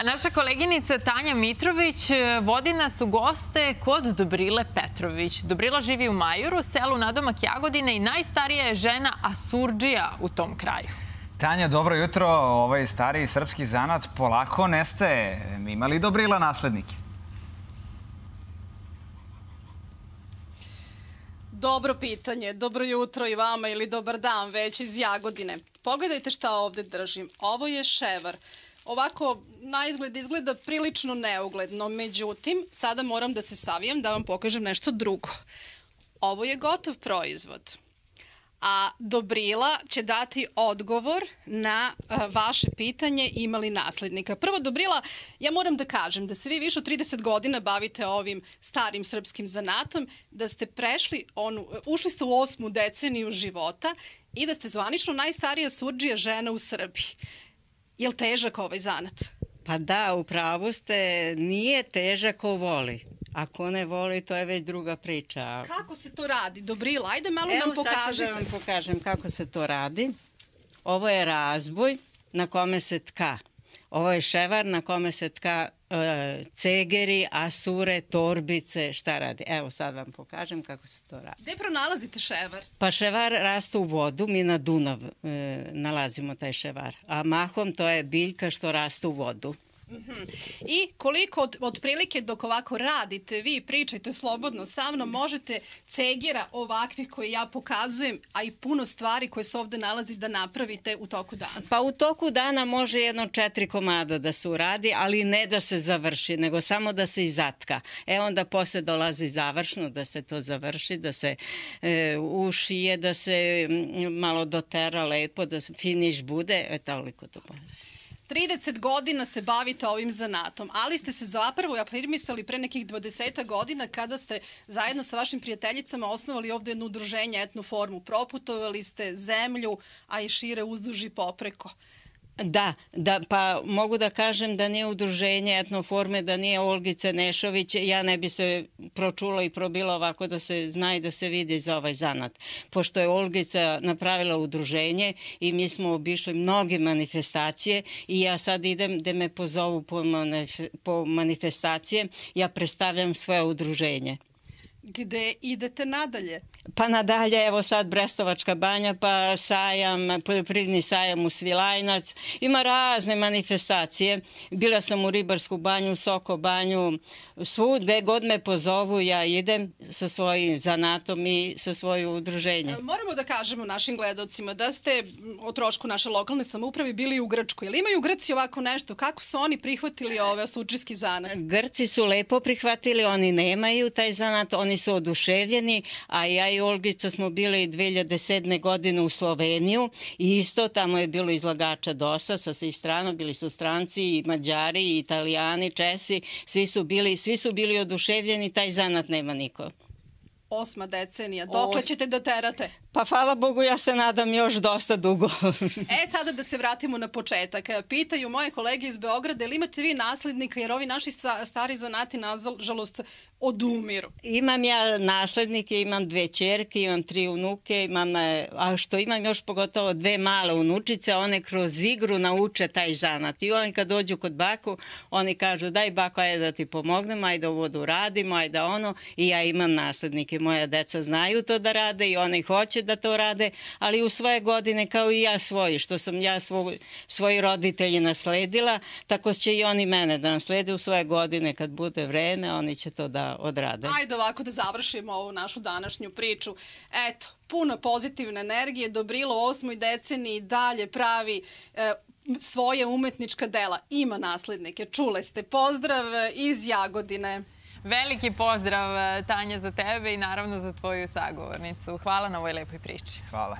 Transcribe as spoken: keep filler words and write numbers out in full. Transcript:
A naša koleginica Tanja Mitrović vodi nas u goste kod Dobrile Petrović. Dobrila živi u Majuru, selu nadomak Jagodine i najstarija je žena asurdžija u tom kraju. Tanja, dobro jutro. Ovaj stariji srpski zanat polako nestaje. Ima li Dobrila naslednike? Dobro pitanje. Dobro jutro i vama ili dobar dan već iz Jagodine. Pogledajte šta ovdje držim. Ovo je ševar. Ovako, na izgled izgleda prilično neugledno. Međutim, sada moram da se savijem da vam pokažem nešto drugo. Ovo je gotov proizvod. A Dobrila će dati odgovor na a, vaše pitanje ima li naslednika. Prvo, Dobrila, ja moram da kažem da se vi više od trideset godina bavite ovim starim srpskim zanatom, da ste prešli onu, ušli ste u osmu deceniju života i da ste zvanično najstarija surdžija žena u Srbiji. Je li težak ovaj zanat? Pa da, u pravu ste, nije težak ko voli. Ako ne voli, to je već druga priča. Kako se to radi, Dobrila? Ajde malo Evo, nam pokažite. Evo sad ću da vam pokažem kako se to radi. Ovo je razboj na kome se tka. Ovo je ševar na kome se tka e, cegeri, asure, torbice, šta radi. Evo sad vam pokažem kako se to radi. Gde pronalazite ševar? Pa ševar raste u vodu, mi na Dunav e, nalazimo taj ševar. A mahom to je biljka što raste u vodu. Mm-hmm. I koliko od, od prilike dok ovako radite, vi pričajte slobodno sa mnom, možete cegera ovakvih koje ja pokazujem, a i puno stvari koje se ovdje nalazi da napravite u toku dana? Pa u toku dana može jedno četiri komada da se uradi, ali ne da se završi, nego samo da se izatka. E onda posle dolazi završno da se to završi, da se e, ušije, da se malo dotera lepo, da se finiš bude, e toliko to bude. trideset godina se bavite ovim zanatom, ali ste se zapravo afirmisali pre nekih dvadeset godina kada ste zajedno sa vašim prijateljicama osnovali ovdje jedno udruženje Etnoformu. Proputovali ste zemlju, a i šire uzduž i popreko. Da, da, pa mogu da kažem da nije udruženje Etnoforme, da nije Olgice Nešović, ja ne bi se pročula i probila ovako da se zna i da se vidi za ovaj zanat. Pošto je Olgica napravila udruženje i mi smo obišli mnoge manifestacije i ja sad idem da me pozovu po, manif po manifestacije, ja predstavljam svoje udruženje. Gde idete nadalje? Pa nadalje, evo sad Brestovačka banja, pa sajam, poljoprivredni sajam u Svilajnac. Ima razne manifestacije. Bila sam u Ribarsku banju, Soko banju, svude god me pozovu, ja idem sa svojim zanatom i sa svojim udruženjem. Moramo da kažemo našim gledalcima da ste o trošku naše lokalne samouprave bili u Grčkoj. Jel imaju Grci ovako nešto? Kako su oni prihvatili ove asurdžijski zanat? Grci su lepo prihvatili, oni nemaju taj zanat, oni su oduševljeni, a ja i Olgica smo bili dve hiljade sedme. godine u Sloveniju i isto tamo je bilo izlagača dosta sa svih strana, bili su stranci i Mađari i Italijani, Česi, svi su bili, svi su bili oduševljeni, taj zanat nema niko. Osma decenija, dokle ćete da terate? Pa hvala Bogu, ja se nadam još dosta dugo. E, sada da se vratimo na početak. Pitaju moje kolege iz Beograda, ili imate vi naslednika, jer ovi naši stari zanati, nažalost, odumiru? Imam ja naslednike, imam dve ćerke, imam tri unuke, imam, a što imam još pogotovo dve male unučice, one kroz igru nauče taj zanat. I oni kad dođu kod baku, oni kažu daj bako, ajde da ti pomognem, ajde ovo da uradimo, ajde ono, i ja imam naslednike. Moja deca znaju to da rade i oni hoće da to rade, ali u svoje godine kao i ja svoji, što sam ja svoj, svoji roditelji nasledila, tako će i oni mene da naslede u svoje godine kad bude vreme, oni će to da odrade. Ajde ovako da završimo ovu našu današnju priču. Eto, puno pozitivne energije, Dobrila u osmoj deceniji dalje pravi e, svoje umetnička dela. Ima naslednike, čule ste. Pozdrav iz Jagodine. Veliki pozdrav, Tanja, za tebe i naravno za tvoju sagovornicu. Hvala na ovoj lepoj priči. Hvala.